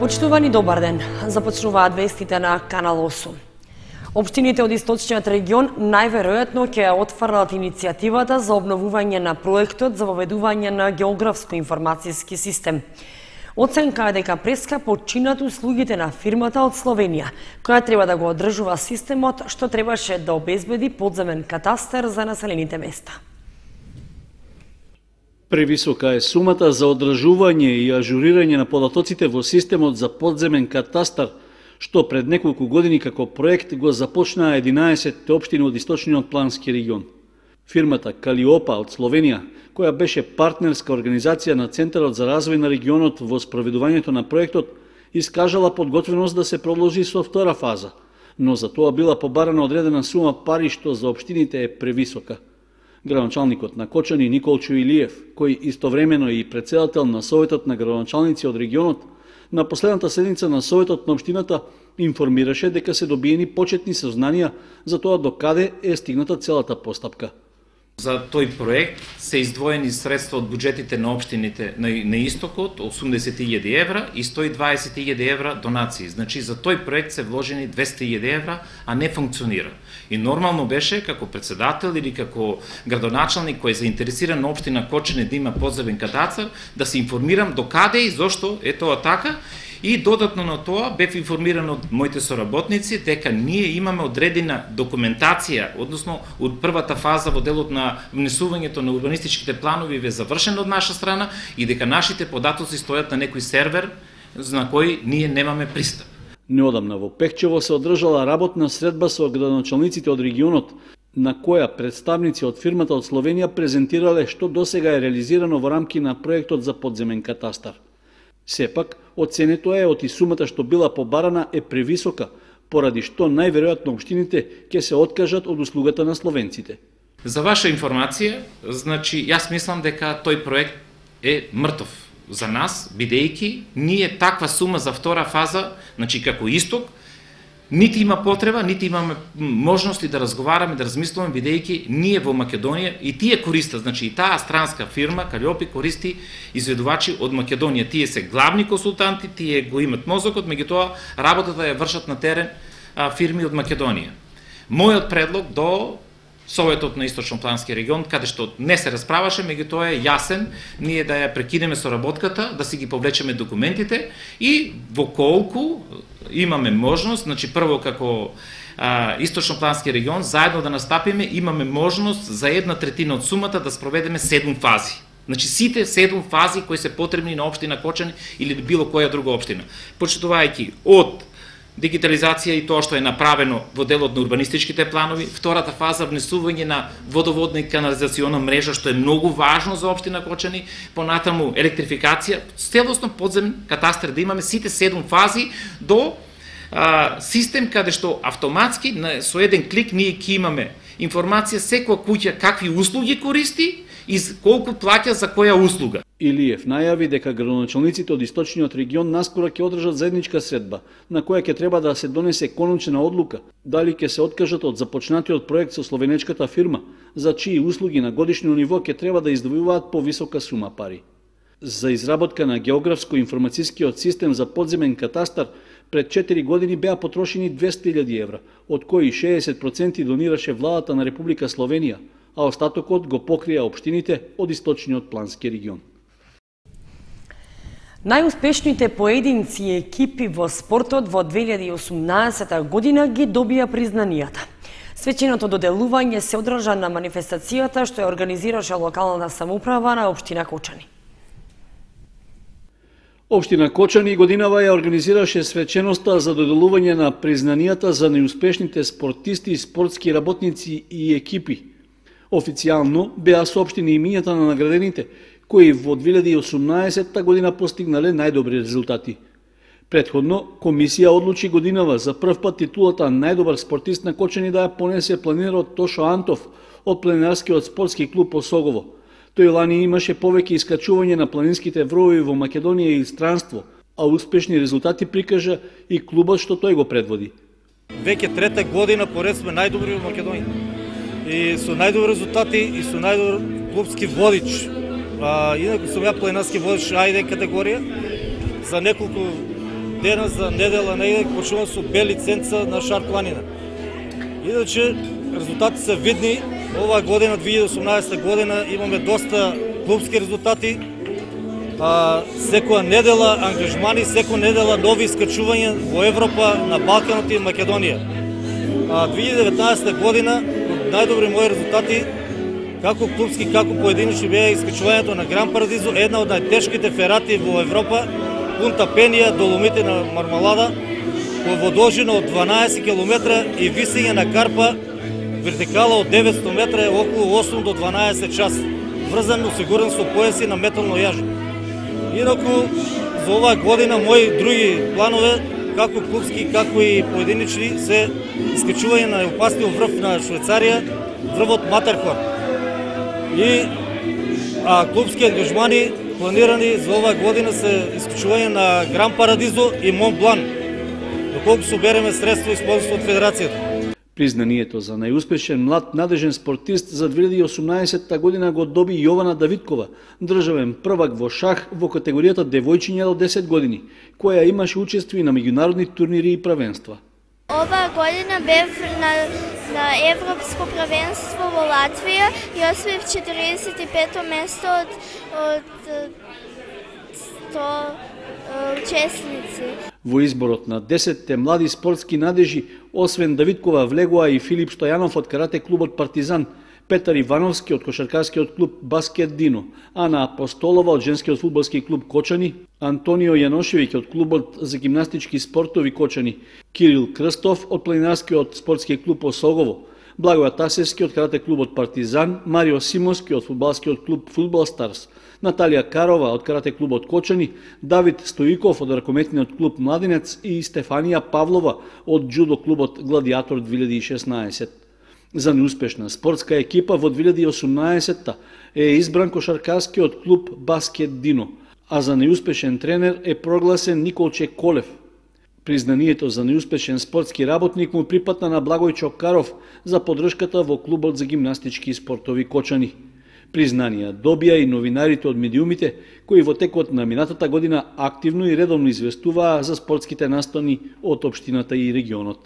Почитувани, добар ден. Започнуваат вестите на Канал 8. Општините од источниот регион најверојатно ќе отфрлат иницијативата за обновување на проектот за воведување на географско-информацијски систем. Оценка е дека прескапо чинат услугите на фирмата од Словенија, која треба да го одржува системот што требаше да обезбеди подземен катастар за населените места. Превисока е сумата за одржување и ажурирање на податоците во системот за подземен катастар, што пред неколку години како проект го започнаа 11 општини од источниот плански регион. Фирмата Калиопа од Словенија, која беше партнерска организација на Центарот за развој на регионот во спроведувањето на проектот, искажала подготвеност да се продолжи со втора фаза, но за тоа била побарана одредена сума пари што за општините е превисока. Градоначалникот на Кочани Николчо Илиев, кој истовремено е и претседател на Советот на градоначалници од регионот, на последната седница на Советот на општината информираше дека се добиени почетни сознанија за тоа до каде е стигната целата постапка. За тој проект се издвоени средства од буџетите на општините на истокот 80.000 евра и 120.000 евра донации. Значи за тој проект се вложени 200.000 евра, а не функционира. И нормално беше како председател или како градоначалник кој е заинтересиран на општина Кочани да има подземен катастар, да се информирам до каде и зошто е тоа така. И додатно на тоа бев информиран од моите соработници дека ние имаме одредена документација, односно од првата фаза во делот на внесувањето на урбанистичките планови ве завршен од наша страна и дека нашите податоци стојат на некој сервер на кој ние немаме пристап. Неодамна во Пехчево се одржала работна средба со градоначалниците од регионот, на која представници од фирмата од Словенија презентирале што досега е реализирано во рамки на проектот за подземен катастар. Сепак, оценето е од и сумата што била побарана е превисока, поради што најверојатно општините ќе се откажат од услугата на словенците. За ваша информација, значи, јас мислам дека тој проект е мртов за нас, бидејќи ние таква сума за втора фаза, значи како исток, нити има потреба, нити имаме можности да разговараме, да размислуваме, бидејќи ние во Македонија и тие користат, значи и таа странска фирма Калиопи користи изведувачи од Македонија. Тие се главни консултанти, тие го имат мозокот, меѓутоа работата ја вршат на терен фирми од Македонија. Мојот предлог до Советот на Источно-плански регион, каде што не се расправаше, меѓутоа е јасен, ние да ја прекинеме соработката, да си ги повлечеме документите и во колку имаме можност, значи прво како Источно-плански регион, заедно да настапиме, имаме можност за 1/3 од сумата да спроведеме 7 фази. Значи сите 7 фази кои се потребни на општина Кочани или било која друга општина. Почитувајќи од дигитализација и тоа што е направено во делот на урбанистичките планови, втората фаза внесување на водоводна и канализациона мрежа, што е многу важно за општина Кочани, понатаму електрификација, целосно подземен катастар да имаме сите 7 фази до систем каде што автоматски со еден клик ние ќе имаме информација секоја куќа какви услуги користи и колку плаќа за која услуга. Илиев најави дека градоначалниците од источниот регион наскоро ќе одржат заедничка средба, на која ќе треба да се донесе конечна одлука, дали ќе се откажат од започнатиот проект со словенечката фирма, за чии услуги на годишно ниво ќе треба да издвојуваат повисока сума пари. За изработка на географско-информацијскиот систем за подземен катастар пред 4 години беа потрошени 200.000 евра, од кои 60% донираше владата на Република Словенија, а остатокот го покрија општините од источниот плански регион. Најуспешните поединци и екипи во спортот во 2018 година ги добија признанијата. Свеченото доделување се одржа на манифестацијата што ја организираше локалната самоуправа на општина Кочани. Општина Кочани годинава ја организираше свеченоста за доделување на признанијата за најуспешните спортисти, спортски работници и екипи. Официјално беа соопштени имињата на наградените, кои во 2018 година постигнале најдобри резултати. Претходно, комисија одлучи годинава за прв пат титулата најдобар спортист на Кочани да ја понесе планинерот Тошо Антов од планинарскиот спортски клуб Осогово. Тој лани имаше повеќе искачување на планинските вровови во Македонија и странство, а успешни резултати прикажа и клубот што тој го предводи. Веќе трета година поред сме најдобри во Македонија. И со најдобри резултати и со најдобар клубски водич. Инаку сум ја планинарски водич А1 категорија. За неколку денес за недела негде почнувам со Б лиценца на Шар планина. Иначе резултати се видни. Оваа година, 2018 година, имаме доста клубски резултати. Секоја недела ангажмани, секоја недела нови искачувања во Европа, на Балканот и Македонија. 2019 година, најдобри мои резултати, како клубски, како поединични, беа искачувањето на Гран Парадизо, една од најтешките ферати во Европа, Пунта Пенија, Доломите на Мармалада, во должина од 12 км и висење на карпа, вертикала од 900 метра е околу 8 до 12 час, врзан осигурен со појаси на метално јажо. Инаку, за оваа година, мои други планове, како клубски, како и поединични, се искачување на опасниот врв на Швајцарија, врвот Матерхорн. И клубски ангажмани планирани за оваа година се искачување на Гран Парадизо и Монт Блан, доколку собереме средства и спонсорство од Федерацијата. Признанието за најуспешен млад надежен спортист за 2018 година го доби Јована Давидкова, државен првак во шах во категоријата девојчиња до 10 години, која имаше учество на меѓународни турнири и правенства. Оваа година бев на Европско правенство во Латвија и освоив 45-то место од 100 учесници. Во изборот на 10 млади спортски надежи, освен Давидкова, влегоа и Филип Стојанов од карате клубот Партизан, Петар Ивановски од кошаркарскиот клуб Баскет Дино, Ана Апостолова од женскиот фудбалски клуб Кочани, Антонио Јаношевиќ од клубот за гимнастички спортови Кочани, Кирил Крстов од планинарскиот спортски клуб Осогово, Благоја Тасевски од карате клубот Партизан, Марио Симовски од фудбалскиот клуб Фудбал Старс, Наталија Карова од карате клубот Кочани, Давид Стоиков од ракометниот клуб Младинец и Стефанија Павлова од джудо клубот Гладиатор 2016. За неуспешна спортска екипа во 2018 е избран кошаркарскиот клуб Баскет Дино, а за неуспешен тренер е прогласен Николче Колев. Признанието за неуспешен спортски работник му припатна на Благој Чокаров за поддршката во клубот за гимнастички спортови Кочани. Признанија добија и новинарите од медиумите, кои во текот на минатата година активно и редовно известуваа за спортските настони од општината и регионот.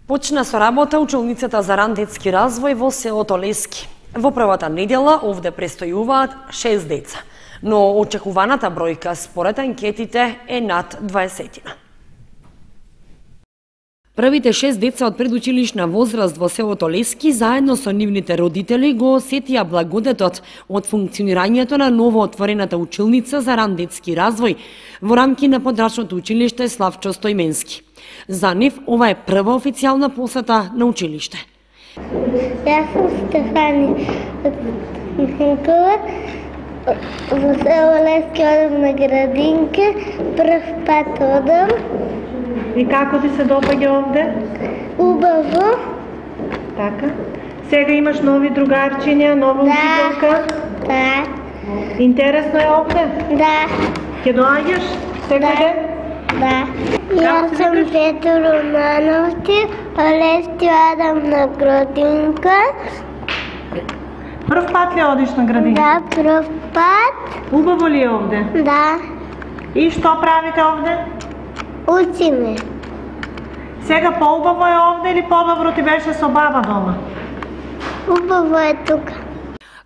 Почна со работа училницата за ран детски развој во селото Лески. Во првата недела овде престојуваат 6 деца, но очекуваната бројка според анкетите е над 20. Првите 6 деца од предучилишна возраст во селото Лески заедно со нивните родители го осетија благодетот од функционирањето на новоотворената училница за ран детски развој во рамки на подрачното училиште Славчо Стојменски. За нив ова е прва официјална посета на училиште. Јас сум Стефани Ненкова, во село Лески одам на градинка, прв пат одам. И како ти се допаѓа овде? Убаво. Така. Сега имаш нови другарчиња, нова учителка? Да. Интересно е овде? Да. Ќе доаѓаш секој ден? Да. Јас сум Петро Романовти, Лески одам на градинка. Прв пат ли одиш на градинка? Да, прв пат. Убаво ли е овде? Да. И што правите овде? Учиме. Сега поубаво е овде или подобро ти беше со баба дома? Убаво е тука.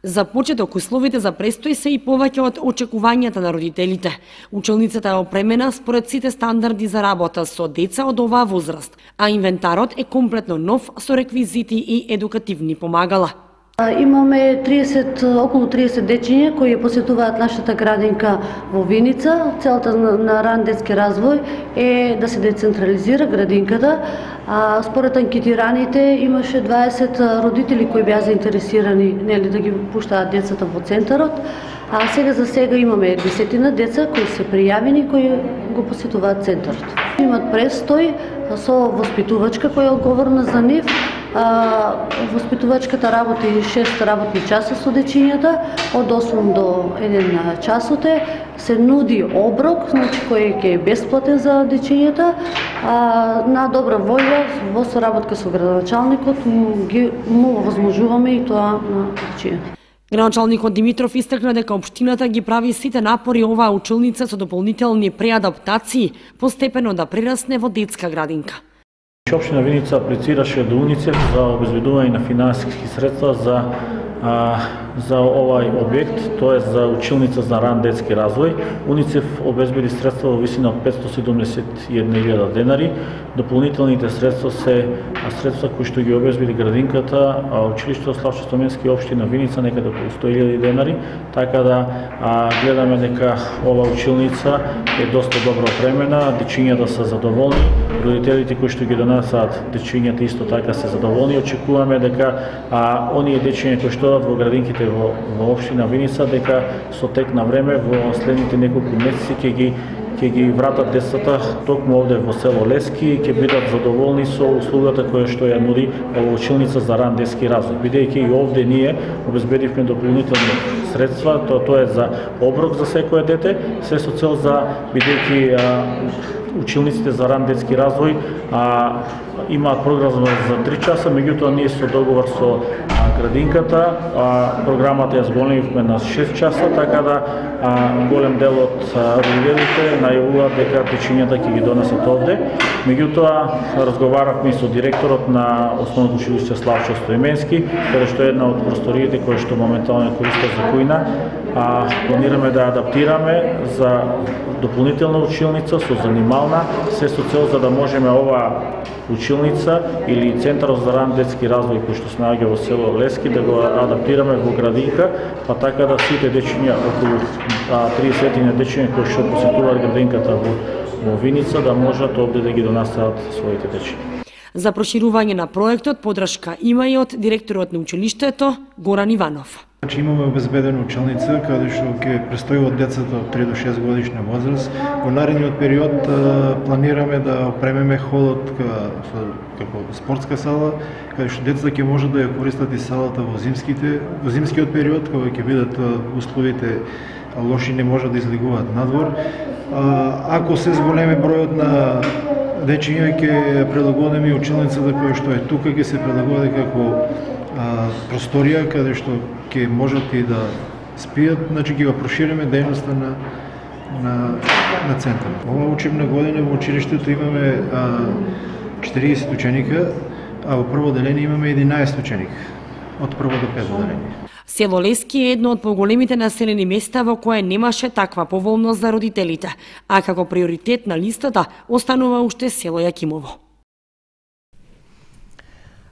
За почеток условите за престој се и повеќе од очекувањата на родителите. Училницата е опремена според сите стандарди за работа со деца од оваа возраст, а инвентарот е комплетно нов со реквизити и едукативни помагала. Имаме околу 30 дечиња кои посетуваат нашата градинка во Виница. Целта на ран детски развој е да се децентрализира градинката. Според анкетираните имаше 20 родители кои беа заинтересирани да ги пуштаат децата во центарот. А сега имаме 10 деца кои се пријавени кои го посетуваат центарот. Имат престој со воспитувачка која е одговорна за нив. Воспитувачката работи 6 работни часа со дечињата, од 8 до 1 часоте. Се нуди оброк, кој е бесплатен за дечињата. На добра волја, во соработка со градоначалникот, му возможуваме и тоа на дечињата. Градоначалникот Димитров истакна дека општината ги прави сите напори оваа училница со дополнителни преадаптации постепено да прерасне во детска градинка. Општина Виница аплицираше до УНИЦЕФ за обезбедување на финансиски средства за овај објект, тоа за училница за ран детски развој. УНИЦЕФ обезбеди средства во висина од 571.000 денари. Дополнителните средства се средства кои што ги обезбеди градинката, училиштето Славчо Стоменски општина Виница некаде околу 100.000 денари, така да гледаме дека ова училница е доста добро опремена, дечињата се задоволни, родителите кои што ги донесаат дечињата исто така се задоволни. Очекуваме дека оние дечиња кои што одат во градинките во општина Виница, дека со тек на време во следните неколку месеци ќе ги вратат децата токму овде во село Лески, ќе бидат задоволни со услугата која што ја нуди ова училница за ран детски развој. Бидејќи и овде ние обезбедивме дополнителни средства, тоа е за оброк за секое дете, се со цел за бидејќи училниците за ран детски развој имаат програма за 3 часа, меѓутоа ние со договор со градинката програмата ја зголемивме на 6 часа, така да голем дел од родителите најавуваат дека дечињата ќе ги донесат овде. Меѓутоа разговаравме и со директорот на Основното училиште Славчо Стоименски, каде што е една од просториите кои што моментално користат за кујна. Планираме да адаптираме за дополнителна училница со занимална, се со цел за да можеме ова училница или центарот за ран детски развој кој што се наоѓа во село Лески да го адаптираме во градинка, па така да сите дечиња, околу 30 дечиња кои што посетуваат градинката во Виница, да можат овде да ги донесат своите дечиња. За проширување на проектот подршка има и од директорот на училиштето Горан Иванов. Имаме обезбедена училница каде што ќе престојуват децата од 3 до 6 годишна возраст. Во наредниот период планираме да опремеме холот како спортска сала, каде што децата ќе можат да ја користат и салата во зимскиот период, кога ќе бидат условите лоши, не можат да излегуваат надвор. Ако се зголеми бројот на дечиња, ќе прилагодиме и училницата која што е тука, ќе се прилагоди како просторија каде што ќе можат и да спијат, значи ќе го прошириме дејноста на центарот. Ова учебна година во училиштето имаме 40 ученика, а во прво деление имаме 11 ученика, од прво до пето деление. Село Лески е едно од поголемите населени места во кое немаше таква поволност за родителите, а како приоритет на листата останува уште село Јакимово.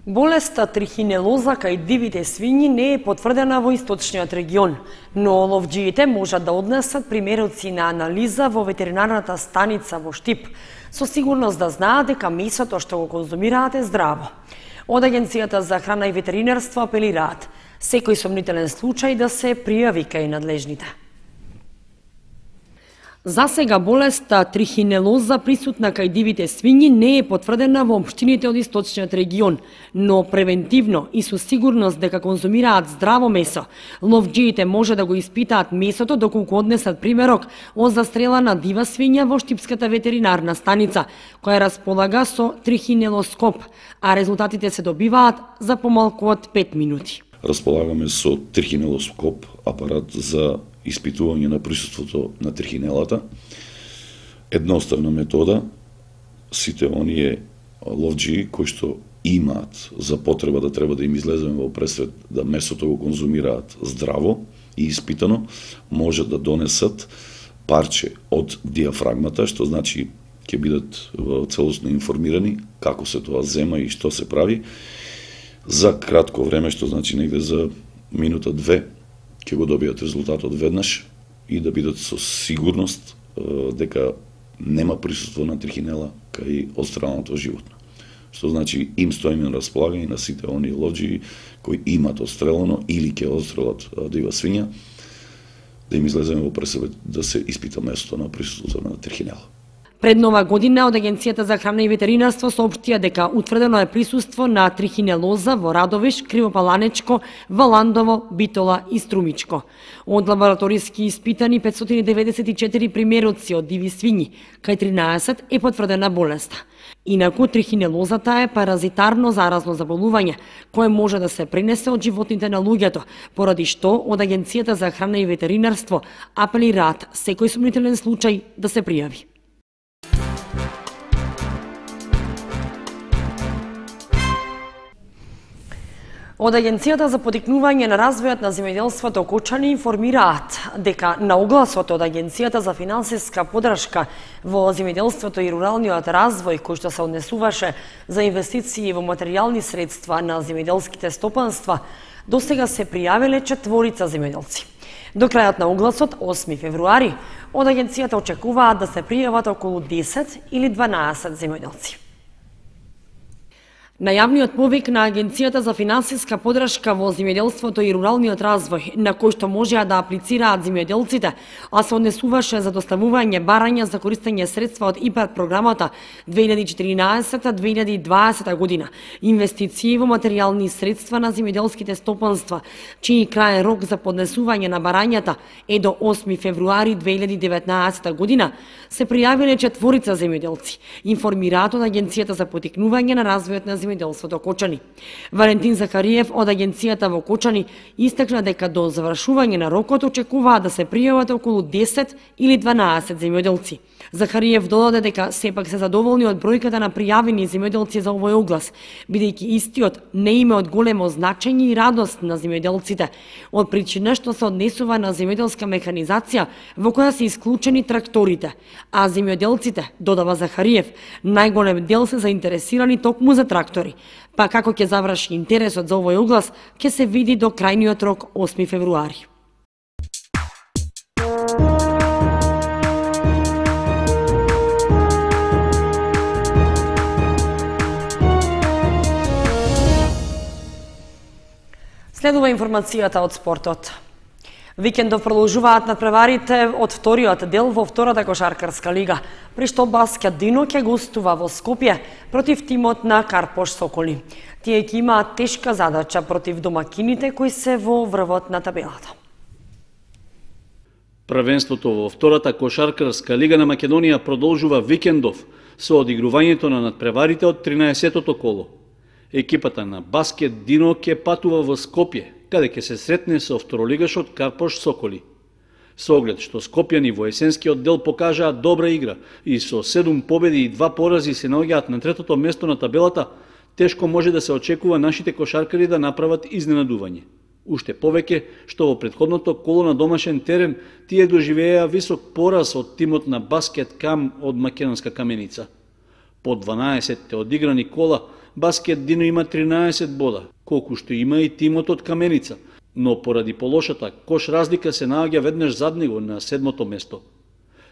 Болеста трихинелоза кај дивите свињи не е потврдена во источниот регион, но ловџиите можат да однесат примероци на анализа во ветеринарната станица во Штип, со сигурност да знаат дека месото што го конзумираат е здраво. Од Агенцијата за храна и ветеринарство апелираат секој сомнителен случај да се пријави кај надлежните. За сега болеста трихинелоза присутна кај дивите свињи не е потврдена во општините од источниот регион, но превентивно и со сигурност дека конзумираат здраво месо, ловџиите може да го испитаат месото доколку однесат примерок од застрелана дива свиња во Штипската ветеринарна станица, која располага со трихинелоскоп, а резултатите се добиваат за помалку од 5 минути. Располагаме со трихинелоскоп, апарат за испитување на присуството на трихинелата. Едноставна метода, сите оние ловџии кои што имаат за потреба да треба да им излеземе во пресвет да месото го конзумираат здраво и испитано, може да донесат парче од диафрагмата, што значи ќе бидат целосно информирани како се тоа зема и што се прави, за кратко време, што значи негде за минута-две, ќе го добијат резултатот веднаш и да бидат со сигурност дека нема присуство на трихинела кај отстреленото животно. Што значи им стоиме на располагање на сите оние ловџии кои имат отстрелено или ќе отстрелат дива свиња, да им излеземе во пресеб да се испита местото на присуството на трихинела. Пред нова година од Агенцијата за храна и ветеринарство соопштија дека утврдено е присуство на трихинелоза во Радовиш, Кривопаланечко, Валандово, Битола и Струмичко. Од лабораториски испитани 594 примероци од диви свињи, кај 13 е потврдена болеста. Инаку трихинелозата е паразитарно заразно заболување, кое може да се пренесе од животните на луѓето, поради што од Агенцијата за храна и ветеринарство апелираат секој сумнителен случај да се пријави. Од Агенцијата за потикнување на развојот на земјоделството Кочани информираат дека на огласот од Агенцијата за финансиска поддршка во земјоделството и руралниот развој, кој што се однесуваше за инвестиции во материјални средства на земјоделските стопанства, досега се пријавиле 4 земјоделци. До крајот на огласот, 8 февруари, од Агенцијата очекуваат да се пријават околу 10 или 12 земјоделци. Најавниот повик на Агенцијата за финансиска поддршка во земјоделството и руралниот развој, на кој што можеа да аплицираат земјоделците, а се однесуваше за доставување барања за користење средства од ИПАР програмата 2014-2020 година, инвестиции во материјални средства на земјоделските стопанства, чиј краен рок за поднесување на барањата е до 8 февруари 2019 година, се пријавиле 4 земјоделци, информираат од Агенцијата за потикнување на развојот на земјоделството Кочани. Валентин Захариев од Агенцијата во Кочани истакна дека до завршување на рокот очекуваат да се пријават околу 10 или 12 земјоделци. Захариев додаде дека сепак се задоволни од бројката на пријавени земјоделци за овој оглас, бидејќи истиот не има од големо значење и радост на земјоделците, од причина што се однесува на земјоделска механизација во која се исклучени тракторите, а земјоделците, додава Захариев, најголем дел се заинтересирани токму за трактори. Па како ќе заврши интересот за овој оглас, ќе се види до крајниот рок 8 февруари. Следува информацијата од спортот. Викендов продолжуваат надпреварите од вториот дел во втората кошаркарска лига, при што Баскет Дино ќе гостува во Скопје против тимот на Карпош Соколи. Тие ќе имаат тешка задача против домакините кои се во врвот на табелата. Првенството во втората кошаркарска лига на Македонија продолжува викендов со одигрувањето на надпреварите од 13-тото коло. Екипата на Баскет Дино ќе патува во Скопје, каде ќе се сретне со второлигашот Карпош Соколи. Со оглед што скопјани во есенскиот дел покажаат добра игра и со 7 победи и 2 порази се наоѓаат на третото место на табелата, тешко може да се очекува нашите кошаркари да направат изненадување. Уште повеќе што во претходното коло на домашен терен тие доживеа висок пораз од тимот на Баскет Кам од Македонска Каменица. По 12 одиграни кола, Баскет Дино има 13 бода, колку што има и тимот од Каменица, но поради полошата кош разлика се наоѓа веднаш зад него на 7-то место.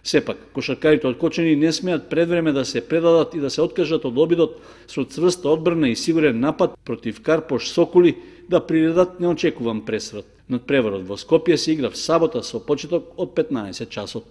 Сепак, кошаркарите од Кочани не смеат предвреме да се предадат и да се откажат од обидот со цврста одбрана и сигурен напад против Карпош Соколи да приредат неочекуван пресрат. Надпреварот во Скопје се игра в сабота со почеток од 15 часот.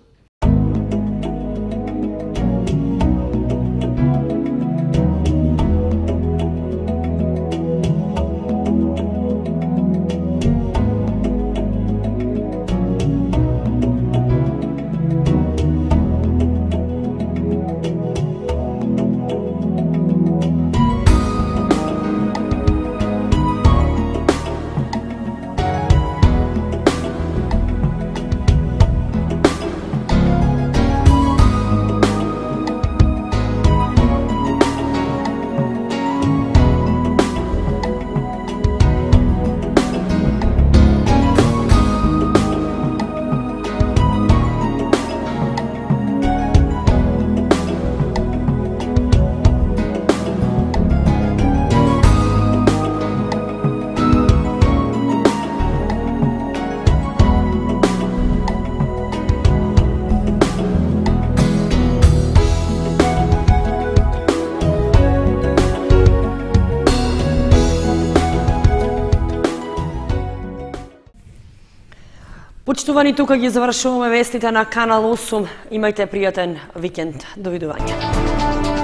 Почитувани, тука ги завршуваме вестите на Канал 8. Имајте пријатен викенд. Довидување.